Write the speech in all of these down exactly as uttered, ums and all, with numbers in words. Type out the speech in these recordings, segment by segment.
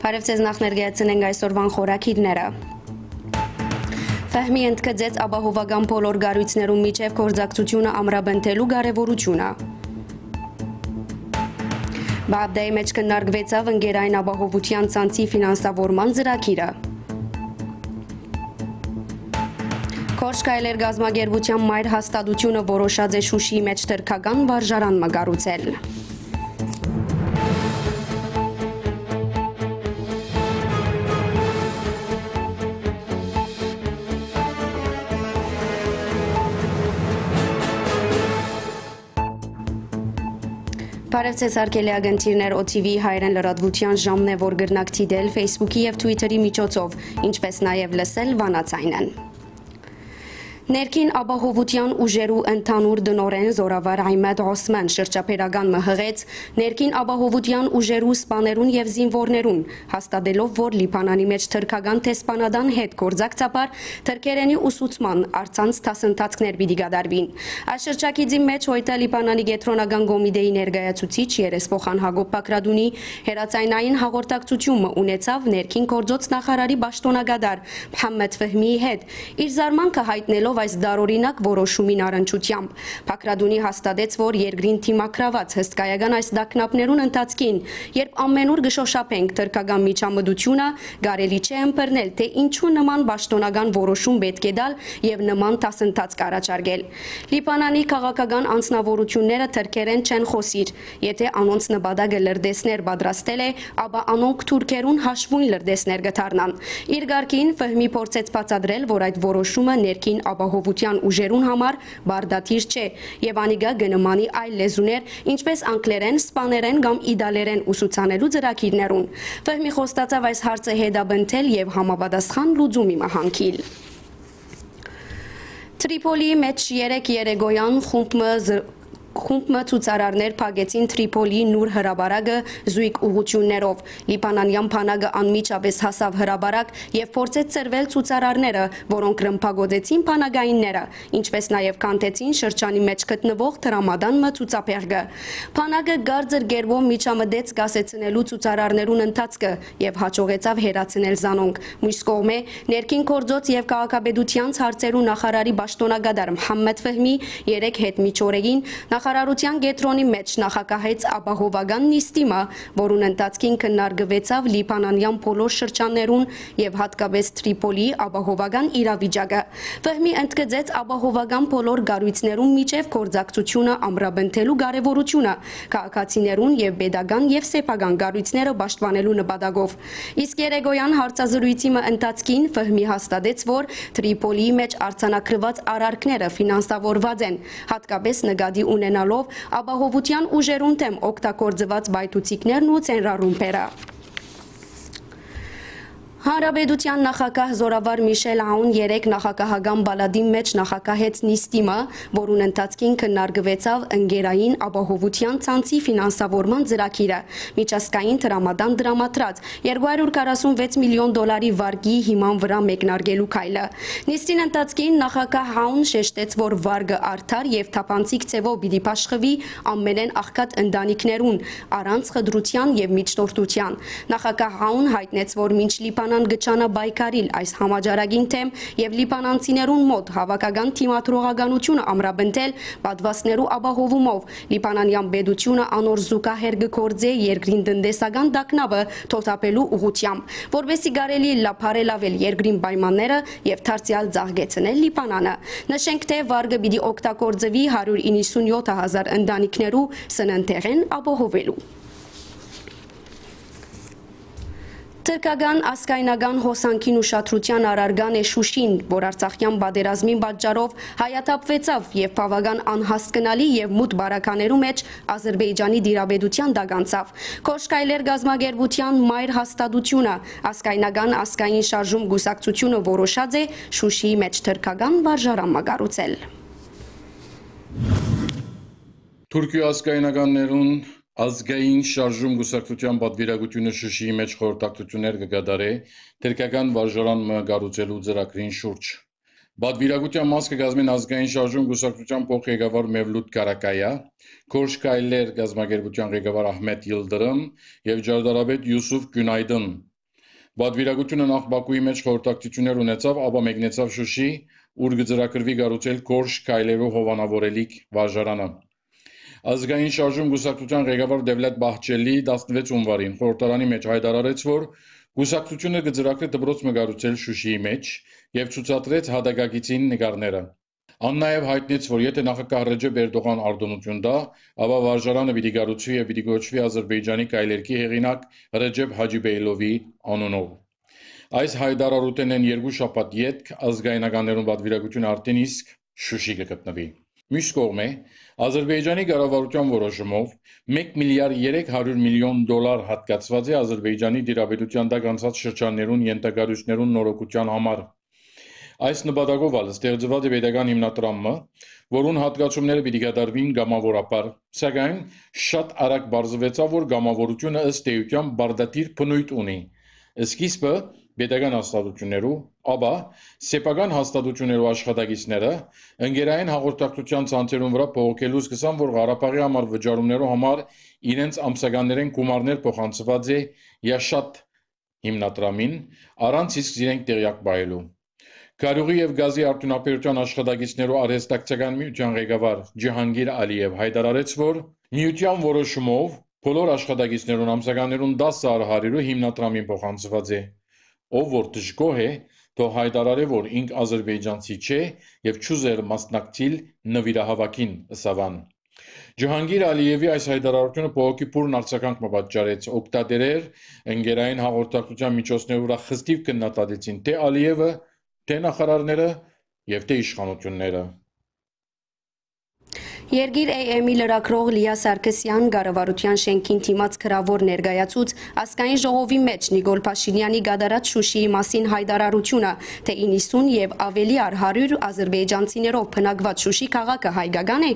Բարեւ ձեզ, նախ ներկայացնենք այսօրվան խորագիրները։ Ֆեհմի ընդգծեց ապահովական բոլոր կառոյցներուն միջեւ գործակցութիւնը ամրապնդելու կարեւորութիւնը։ Բաաբդայի մէջ քննարկուեցաւ ընկերային ապահովութեան ցանցի ֆինանսավորման ծրագիրը։ Քորշ քայլեր կազմակերպութեան մայր հաստատութիւնը որոշած է Շուշիի մէջ թրքական վարժարան մը կառուցել։ Բարեւ ձեզ, հարգելի ակնթիռներ, O T V հայերեն լրատվութեան ժամն է, որ կրնաք դիտել Facebook-ի եւ Twitter-ի միջոցով, ինչպէս նաեւ լսել վանաձայնեն։ Ներքին ապահովութեան ուժերու ընդհանուր տնօրէն Զորավար Ղիմատ Օսման շրջաբերական մը յղեց ներքին ապահովութեան ուժերու սպաներուն եւ զինուորներուն, հաստատելով, որ Լիբանանի մէջ թրքական դեսպանատան հետ գործակցաբար թրքերէնի ուսուցման առցանց դասընթացքներ պիտի կատարուին։ Այս շրջագիծի մէջ յոյտը Լիբանանի Կեդրոնական կոմիտեի ներկայացուցիչ երեսփոխան Յակոբ Բագրատունի հեռաձայնային հաղորդակցութիւն մը ունեցաւ ներքին գործոց նախարարի պաշտօնակատար Մուհամմեդ Ֆեհմիի հետ, իր զարմանքը յայտնելով այս տարօրինակ որոշումին առնչութեամբ։ Բագրատունի հաստատեց, որ երկրին դիմագրաւած հսկայական այս տագնապներուն ընթացքին, երբ ամենուր կը շօշափենք թրքական միջամտութիւնը, կարելի չէ ըմբռնել, թէ ինչու նման պաշտօնական որոշում պէտք է տալ եւ նման դասընթացք առաջարկել։ Լիբանանի քաղաքական անձնաւորութիւնները թրքերէն չեն խօսիր։ Եթէ անոնց նպատակը լրտեսներ պատրաստել է, ապա անոնք թուրքերուն հաշուոյն լրտեսներ կը դառնան։ Իր կարգին, Ֆեհմի փորձեց բացատրել, որ այդ որոշումը ներքին ապահովութեան ուժերուն համար պարտադիր չէ եւ անիկա կը նմանի այլ լեզուներ, ինչպէս անգլերէն, սպաներէն կամ իտալերէն ուսուցանելու ծրագիրներուն։ Ֆեհմի խոստացաւ այս հարցը հետապնդել եւ համապատասխան լուծումի մը յանգիլ։ Տրիփոլիի մէջ երեկ երեկոյան խումբ մը զր-, խումբ մը ցուցարարներ փակեցին Տրիփոլիի նոր հրապարակը զոյգ ուղղութիւններով։ Լիբանանեան բանակը անմիջապէս հասաւ հրապարակ եւ փորձեց ցրուել ցուցարարները, որոնք ռմբակոծեցին բանակայինները, ինչպէս նաեւ քանդեցին շրջանի մէջ գտնուող դրամատան մը ցուցաբեղկը։ Բանակը կարծր կերպով միջամտեց կասեցնելու ցուցարարներուն ընթացքը եւ յաջողեցաւ հեռացնել զանոնք։ Միւս կողմէ, ներքին գործոց եւ քաղաքապետութեանց հարցերու նախարարի պաշտօնակատար Մուհամմեդ Ֆեհմի երեկ յետ միջօրեին նախարարութեան կեդրոնի մէջ նախագահեց ապահովական նիստի մը, որուն ընթացքին քննարկուեցաւ լիբանանեան բոլոր շրջաններուն եւ յատկապէս Տրիփոլիի ապահովական իրավիճակը։ Ֆեհմի ընդգծեց ապահովական բոլոր կառոյցներուն միջեւ գործակցութիւնը ամրապնդելու կարեւորութիւնը, քաղաքացիներուն եւ պետական եւ սեփական կառոյցները պաշտպանելու նպատակով։ Իսկ երեկոյան հարցազրոյցի մը ընթացքին Ֆեհմի հաստատեց, որ Տրիփոլիի մէջ արձանագրուած արարքները ֆինանսավորուած են, յատկապէս նկատի ունենալով ապահովութեան ուժերուն դէմ օգտագործուած պայթուցիկներն ու ծանրարումբերը։ Հանրապետութեան նախագահ Զորավար Միշել Աուն երեկ նախագահական պալատին մէջ նախագահեց նիստի մը, որուն ընթացքին քննարկուեցաւ ընկերային ապահովութեան ցանցի ֆինանսավորման ծրագիրը, միջազգային դրամատան տրամադրած երկու հարյուր քառասունվեց միլիոն դոլարի վարկի հիման վրայ մեկնարկելու քայլը։ Նիստին ընթացքին նախագահ Աուն շեշտեց, որ վարկը արդար եւ թափանցիկ ձեւով պիտի բաշխուի ամենէն աղքատ ընտանիքներուն, առանց խտրութեան եւ միջնորդութեան։ Նախագահ Աուն յայտնեց, որ մինչ Լիբանան կը ջանայ պայքարիլ այս համաճարակին դէմ եւ լիբանանցիներուն մօտ հաւաքական դիմադրողականութիւնը ամրապնդել պատուաստներու ապահովումով, լիբանանեան պետութիւնը անոր զուգահեռ կը գործէ երկրին տնտեսական տագնապը թոթափելու ուղղութեամբ, որպեսզի կարելի ըլլայ բարելավել երկրին պայմանները եւ դարձեալ ծաղկեցնել Լիբանանը։ Նշենք, թէ վարկը պիտի օգտագործուի հարիւր իննսունյոթ հազար ընտանիքներու սննդեղէն ապահովելու։ Թրքական ազգայնական հոսանքին ուշադրութեան առարկան է Շուշին, որ Արցախեան պատերազմին պատճառով հայաթափուեցաւ եւ բաւական անհասկնալի եւ մութ պարագաներու մէջ Ազրպէյճանի տիրապետութեան տակ անցաւ։ Քորշ քայլեր կազմակերպութեան մայր հաստատութիւնը, ազգայնական ազգային շարժում կուսակցութիւնը որոշած է Շուշիի մէջ թրքական վարժարան մը կառուցել։ Թուրքիոյ ազգայնականներուն ազգային շարժում կուսակցութեան պատվիրակութիւնը Շուշիի մէջ խորհրդակցութիւններ կը կատարէ թրքական վարժարան մը կառուցելու ծրագրին շուրջ։ Պատվիրակութեան մաս կը կազմին ազգային շարժում կուսակցութեան փոխղեկավար Մևլութ Կարակայա, Քորշ քայլեր կազմակերպութեան ղեկավար Ահմետ Յիլդրըմ եւ ճարտարապետ Յուսուֆ Գյունայդին։ Պատվիրակութիւնը նախ Պաքուի մէջ խորհրդակցութիւններ ունեցաւ, ապա մեկնեցաւ Շուշի, ուր կը ծրագրուի կառուցել Գորշ քայլերու հովանաւորելիք վարժարանը։ Ազգային շարժում կուսակցութեան ղեկավար Դեւլեթ Բահչելի տասնվեց յունուարին խորհրդարանի մէջ յայտարարեց, որ կուսակցութիւնը կը ծրագրէ դպրոց մը կառուցել Շուշիի մէջ եւ ցուցադրեց յատակագիծին նկարները։ Ան նաեւ յայտնեց, որ եթէ նախագահ Ռեջեփ Էրտողան արտօնութիւն տայ, ապա վարժարանը պիտի կառուցուի եւ պիտի կոչուի Ազրպէյճանի քայլերգի հեղինակ Ռեջեփ Հաճիբեյլովի անունով։ Այս յայտարարութենէն երկու շաբաթ ետք ազգայնականներուն պատվիրակութիւնը արդեն իսկ Շուշի կը գտնուի։ Միւս կողմէ, Ազրպէյճանի կառավարութեան որոշումով մէկ միլիարդ երեք հարիւր միլիոն դոլար յատկացուած է Ազրպէյճանի տիրապետութեան տակ անցած շրջաններուն ենթակառոյցներուն նորոգութեան համար։ Այս նպատակով ալ ստեղծուած է պետական հիմնադրամ մը, որուն յատկացումները պիտի կատարուին կամաւորաբար, սակայն շատ արագ պարզուեցաւ, որ կամաւորութիւնը ըստ էութեան պարտադիր բնոյթ ունի։ Սկիզբը պետական հաստատութիւններու, ապա սեփական հաստատութիւններու աշխատակիցները ընկերային հաղորդակցութեան ցանցերուն վրայ բողոքելու սկսան, որ Ղարաբաղի համար վճարումներու համար իրենց ամսականներէն գումարներ փոխանցուած է Յաշատ հիմնադրամին, առանց իսկ զիրենք տեղեակ պահելու։ Քարիւղի եւ գազի արդիւնաբերութեան աշխատակիցներու արհեստակցական միութեան ղեկավար Ջիհանգիր Ալիեւ յայտարարեց, որ միութեան որոշումով բոլոր աշխատակիցներուն ամսականներուն տասը արհարիւրը հիմնադրամին փոխանցուած է։ Ով որ դժգոհ է, թող յայտարարէ, որ ինք ազրպէյճանցի չէ եւ չուզեր մասնակցիլ նուիրահաւաքին, ըսաւ ան։ Ջհանգիր Ալիեւի այս յայտարարութիւնը բողոքի բուռն արձագանք մը պատճառեց։ Օգտատերեր ընկերային հաղորդակցութեան միջոցներու վրայ խստիւ քննադատեցին թէ Ալիեւը, թէ նախարարները եւ թէ իշխանութիւնները։ Երկիր A M-ի լրագրող Լիա Սարգսեան կառավարութեան շենքին դիմաց գրաւոր ներկայացուց ազգային ժողովի մէջ Նիկոլ Փաշինեանի կատարած Շուշիի մասին յայտարարութիւնը, թէ իննսուն եւ աւելի արհարիւր ազրպէյճանցիներով բնակուած Շուշի քաղաքը հայկական է։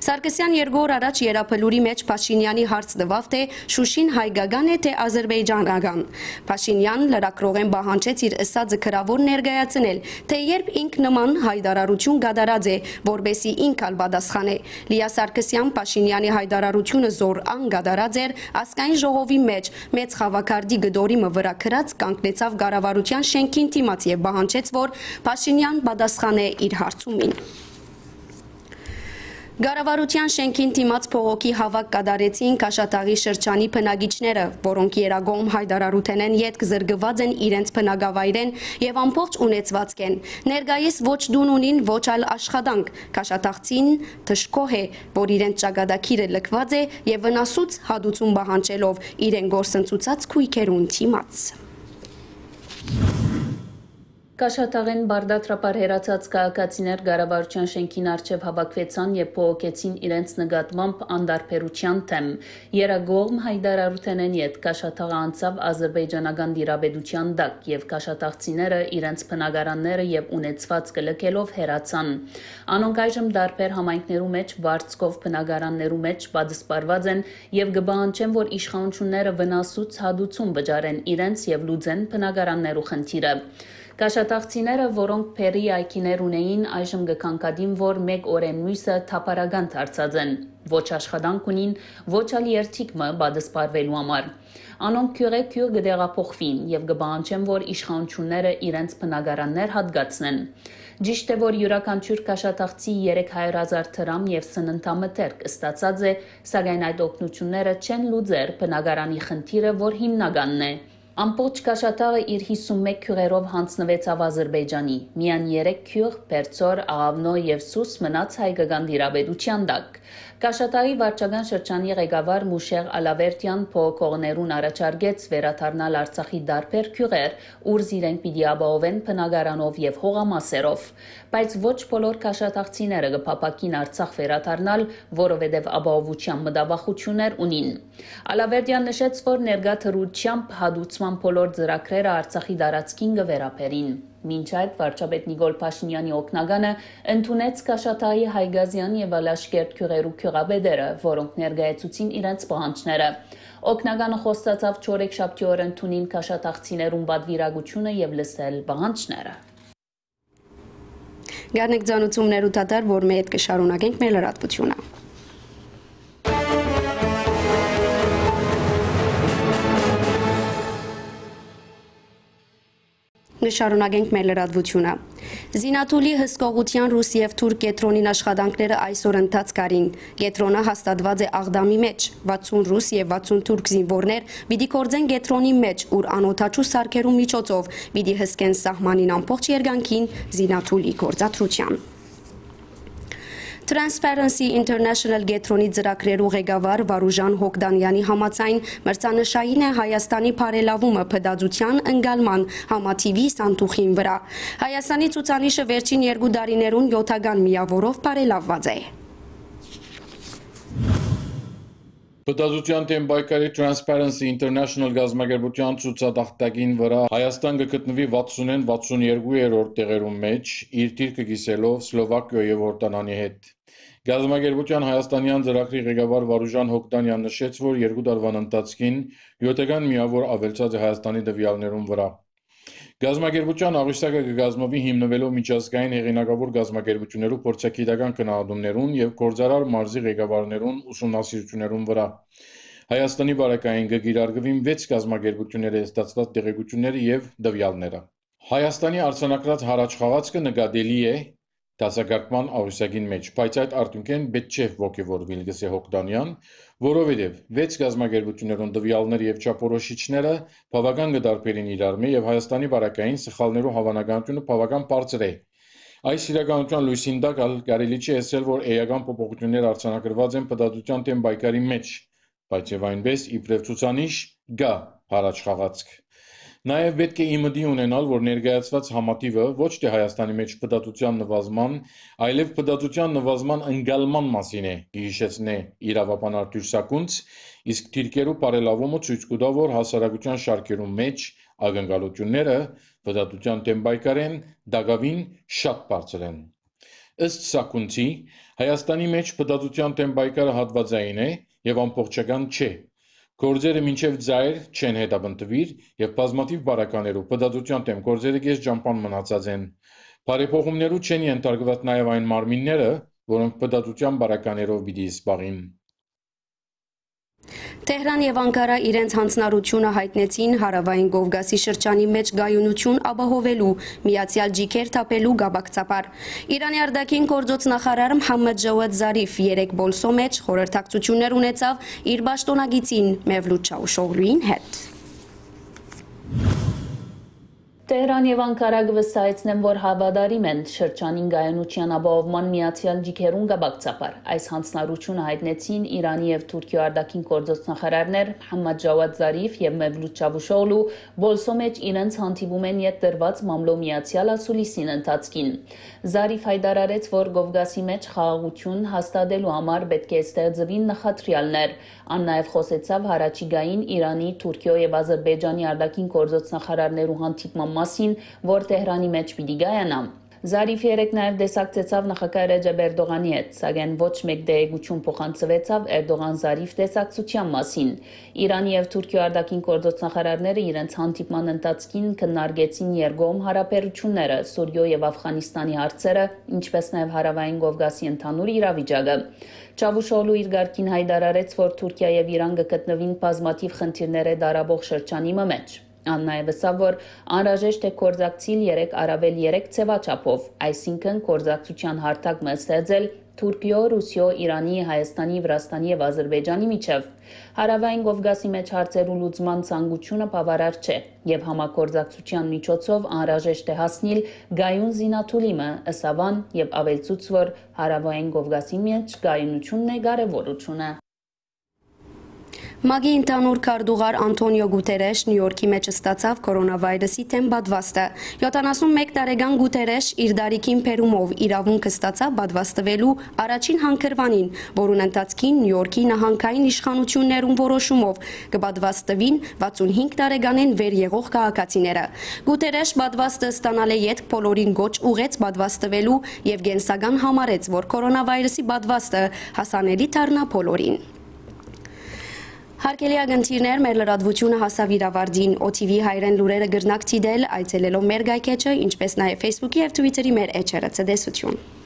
Սարգսեան երկու օր առաջ Եռաբլուրի մէջ Փաշինեանի հարց տուաւ, թէ Շուշին հայկական է, թէ ազրպէյճանական։ Փաշինեան լրագրողէն պահանջեց իր ըսածը գրաւոր ներկայացնել, թէ երբ ինք նման յայտարարութիւն կատարած է, որպէսզի ինք ալ պատասխանէ։ Լիա Սարգսեան Փաշինեանի յայտարարութիւնը զոր ան կատարած էր ազգային ժողովի մէջ մեծ խաւաքարտի կտորի մը վրայ գրած, կանգնեցաւ կառավարութեան շենքին դիմաց եւ պահանջեց, որ Փաշինեան պատասխանէ իր հարցումին։ Կառավարութեան շենքին դիմաց բողոքի հաւաք կատարեցին Քաշաթաղի շրջանի բնակիչները, որոնք եռակողմ յայտարարութենէն ետք զրկուած են իրենց բնակավայրէն եւ ամբողջ ունեցուածքէն։ Ներկայիս ոչ տուն ունին, ոչ ալ աշխատանք։ Քաշաթաղցին դժգոհ է, որ իրենց ճակատագիրը լքուած է եւ վնասուց հատուցում պահանջելով իրեն գործընծուցած գոյքերուն դիմաց։ Քաշաթաղէն պարտադրաբար հեռացած քաղաքացիներ կառավարութեան շենքին առջեւ հաւաքուեցան եւ բողոքեցին իրենց նկատմամբ անդարբերութեան դէմ։ Եռակողմ յայտարարութենէն ետք Քաշաթաղը անցաւ ազրպէյճանական տիրապետութեան տակ եւ քաշաթաղցիները իրենց բնակարանները եւ ունեցուածքը լքելով հեռացան։ Անոնք այժմ տարբեր համայնքներու մէջ վարձքով բնակարաններու մէջ պատսպարուած են եւ կը պահանջեն, որ իշխանութիւնները վնասուց հատուցում վճարեն իրենց եւ լուծեն բնակարաններու խնդիրը։ Քաշաթաղցիները, որոնք բեռի այգիներ ունէին, այժմ կը գանգատին, որ մէկ օրէն միւսը թափառական դարձած են, ոչ աշխատանք ունին, ոչ ալ երդիք մը պատսպարուելու համար։ Անոնք գիւղէ գիւղ կը տեղափոխուին եւ կը պահանջեն, որ իշխանութիւնները իրենց բնակարաններ հատկացնեն։ Ճիշդ է, որ իւրաքանչիւր քաշաթաղցի երեք հարիւր հազար դրամ եւ սննդամթերք ստացած է, սակայն այդ օգնութիւնները չեն լուծեր բնակարանի խնդիրը, որ հիմնականն է։ Ամբողջ Քաշաթաղը իր յիսուն մէկ գիւղերով յանձնուեցաւ Ազրպէյճանի։ Միայն երեք գիւղ՝ Պերծոր, Աղավնո եւ Սուս, մնաց հայկական տիրապետութեան տակ։ Քաշաթաղի վարչական շրջանի ղեկավար Մուշեղ Ալավերդեան բողոքողներուն առաջարկեց վերադառնալ Արցախի տարբեր գիւղեր, ուր զիրենք պիտի ապահովեն բնակարանով եւ հողամասերով։ Բայց ոչ բոլոր քաշաթաղցիները կը փափաքին Արցախ վերադառնալ, որովհետեւ ապահովութեան մտավախութիւններ ունին։ Ալավերդեան նշեց, որ ներկայ դրությամբ հատուցման բոլոր ծրագրերը Արցախի տարածքին կը վերաբերին։ Մինչ այդ, վարչապետ Նիկոլ Փաշինեանի օգնականը ընդունեց Քաշաթաղի, Հայկազեան եւ Ալաշկերտ գիւղերու գիւղապետերը, որոնք ներկայացուցին իրենց պահանջները։ Օգնականը խոստացաւ չորեքշաբթի օրը ընդունիլ քաշաթաղցիներուն պատվիրակութիւնը եւ լսել պահանջները։ Գարնեք ձանուցումներու դատար, որ մէտ կը շարունակենք մեր լրատվութիւնը։ Կը շարունակենք մեր լրատվութիւնը։ Զինաթուլի հսկողութեան ռուս եւ թուրք կեդրոնին աշխատանքները այսօր ընթացք առին։ Կեդրոնը հաստատուած է Աղդամի մէջ, վաթսուն ռուս եւ վաթսուն թուրք զինուորներ պիտի գործեն կեդրոնի մէջ, ուր անօդաչու սարքերու միջոցով պիտի հսկեն սահմանին ամբողջ երկայնքին զինաթուլի գործադրութեան։ Transparency International կեդրոնի ծրագրերու ղեկավար Վարուժան Հոգդանեանի համաձայն, մրցանշային է Հայաստանի բարելաւումը փտածութեան ընկալման համաթիւի սանդուղին վրայ։ Հայաստանի ցուցանիշը վերջին երկու տարիներուն յօթական միաւորով բարելաւուած է։ Փտածութեան դէմ պայքարի Transparency International կազմակերպութեան ցուցատախտակին վրայ Հայաստան կը գտնուի վաթսունէն վաթսուն երկու երրորդ տեղերուն մէջ, իր դիրքը կիսելով Սլովակիոյ եւ Յորդանանի հետ։ Կազմակերպութեան հայաստանեան ծրագրի ղեկավար Վարուժան Հոգտանեան նշեց, որ երկու տարուան ընթացքին յօթական միաւոր աւելցած է Հայաստանի տուեալներուն վրայ։ Կազմակերպութեան աղյուսակը կը կազմուի հիմնուելով միջազգային հեղինակաւոր կազմակերպութիւններու փորձագիտական գնահատումներուն եւ գործարար մարզի ղեկավարներուն ուսումնասիրութիւններուն վրայ։ Հայաստանի պարագային կը կիրարկուին վեց կազմակերպութիւնները ստացուած տեղեկութիւնները եւ տուեալները։ Հայաստանի արձանագրած յառաջխաղացքը նկատելի է դասակարգման աղյուսակին մէջ, բայց այդ արդիւնքէն պէտք չէ ոգեւորուիլ, կ'ըսէ Հոգտանեան, որովհետեւ վեց կազմակերպութիւններուն տուեալները եւ չափորոշիչները բաւական կը տարբերին իրարմէ եւ Հայաստանի պարագային սխալներու հաւանականութիւնը բաւական բարձր է։ Այս իրականութեան լոյսին տակ ալ կարելի չէ ըսել, որ էական փոփոխութիւններ արձանագրուած են փտածութեան դէմ պայքարի մէջ, բայց եւ այնպէս իբրեւ ցուցանիշ կայ յառաջխաղացք։ Նաեւ պէտք է ի մտի ունենալ, որ ներկայացուած համաթիւը ոչ թէ Հայաստանի մէջ փտածութեան նուազման, այլեւ փտածութեան նուազման ընկալման մասին է, կը յիշեցնէ իրաւաբան Արտուր Սակունց, իսկ դիրքերու բարելաւումը ցոյց կու տայ, որ հասարակութեան շարքերուն մէջ ակնկալութիւնները փտածութեան դէմ պայքարէն տակաւին շատ բարձր են։ Ըստ Սակունցի, Հայաստանի մէջ փտածութեան դէմ պայքարը հատուածային է եւ ամբողջական չէ։ Գործերը մինչեւ ծայր չեն հետապնդուիր եւ բազմաթիւ պարագաներու փտածութեան դէմ գործերը կես ճամբան մնացած են։ Բարեփոխումներու չեն ենթարկուած նաեւ այն մարմինները, որոնք փտածութեան պարագաներով պիտի զբաղին։ Թեհրան եւ Անկարա իրենց յանձնառութիւնը յայտնեցին Հարաւային Կովկասի շրջանի մէջ կայունութիւն ապահովելու, միացեալ ճիգեր թափելու կապակցաբար։ Իրանի արտաքին գործոց նախարար Մհամմեդ Ժաուադ Զարիֆ երեկ Պոլսոյ մէջ խորհրդակցութիւններ ունեցաւ իր պաշտօնակիցին Մևլութ Չաուշօղլուին հետ։ Թեհրան եւ Անկարա կը վստահեցնեն, որ հաւատարիմ են շրջանին կայունութեան ապահովման միացեալ ճիգերուն կապակցաբար։ Այս յանձնառութիւնը յայտնեցին Իրանի եւ Թուրքիոյ արտաքին գործոց նախարարներ Մհամմեդ Ժաուադ Զարիֆ եւ Մևլութ Չավուշօղլու Պոլսոյ մէջ իրենց հանդիպումէն յետ տրուած մամլոյ միացեալ ասուլիսին ընթացքին։ Զարիֆ յայտարարեց, որ Կովկասի մէջ խաղաղութիւն հաստատելու համար պէտք է ստեղծուին նախադրեալներ։ Ան նաեւ խօսեցաւ յառաջիկային Իրանի, Թուրքիոյ եւ Ազրպէյճանի արտաքին գործոց նախարարներու հանդիպման մասին, որ Թեհրանի մէջ պիտի կայանայ։ Զարիֆ երեկ նաեւ տեսակցեցաւ նախագահ Ռեջեփ Էրդողանի հետ, սակայն ոչ մէկ տեղեկութիւն փոխանցուեցաւ Էրդողան-Զարիֆ տեսակցութեան մասին։ Իրանի եւ Թուրքիոյ արտաքին գործոց նախարարները իրենց հանդիպման ընթացքին քննարկեցին երկկողմ յարաբերութիւնները, Սուրիոյ եւ Աֆղանիստանի հարցերը, ինչպէս նաեւ Հարաւային Կովկասի ընդհանուր իրավիճակը։ Չավուշօղլու իր կարգին յայտարարեց, որ Թուրքիա եւ Իրան կը գտնուին բազմաթիւ խնդիրներէ տարապող շրջանի մը մէջ։ Ան նաեւ ըսաւ, որ անհրաժեշտ է գործակցիլ երեք առավել երեք ձեւաչափով, այսինքն՝ գործակցութեան հարթակ մը ստեղծել Թուրքիոյ, Ռուսիոյ, Իրանի, Հայաստանի, Վրաստանի եւ Ազրպէյճանի միջեւ։ Հարաւային Կովկասի մէջ հարցերու լուծման ցանկութիւնը բաւարար չէ, եւ համագործակցութեան միջոցով անհրաժեշտ է հասնիլ կայուն զինաթուլի մը, ըսաւ ան եւ աւելցուց, որ Հարաւային Կովկասի մէջ կայունութիւնն է կարեւորութիւնը։ ՄԱԿ-ի ընդհանուր քարտուղար Անթոնիո Գուտերեշ Նիու Յորքի մէջ ստացաւ կորոնավայրուսի դէմ պատուաստը։ Յոթանասուն մէկ տարեկան Գուտերեշ իր տարիքին բերումով իրաւունք ստացաւ պատվաստուելու առաջին հանգրուանին, որուն ընթացքին Նիու Յորքի նահանգային իշխանութիւններուն որոշումով կը պատվաստուին վաթսուն հինգ տարեկանէն վեր եղող քաղաքացիները։ Գուտերեշ պատվաստը ստանալէ ետք բոլորին կոչ ուղղեց պատվաստուելու եւ կենսական համարեց, որ կորոնավայրուսի պատվաստը հասանելի դառնայ բոլորին։ Հարգելի ակնթիռներ, մեր լրատվութիւնը հասաւ իր ավարտին։ Օ Թի Վի հայերէն լուրերը կրնաք դիտել այցելելով մեր կայքէջը, ինչպէս նաեւ Facebook-ի եւ Twitter-ի մեր էջերը։ Ցտեսութիւն։